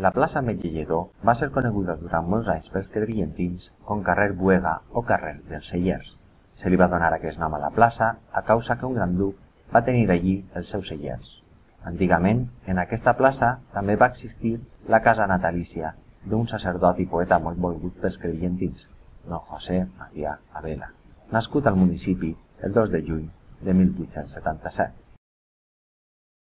La plaça Metge Lledó va ser coneguda durant molts anys pels crevillentins com carrer Buega o carrer dels Cellers. Se li va donar aquest nom a la plaça a causa que un gran duc va tenir allí els seus cellers. Antigament, en aquesta plaça també va existir la casa natalícia d'un sacerdot i poeta molt volgut pels crevillentins, don José Macià Abela, nascut al municipi el 2 de juny de 1877.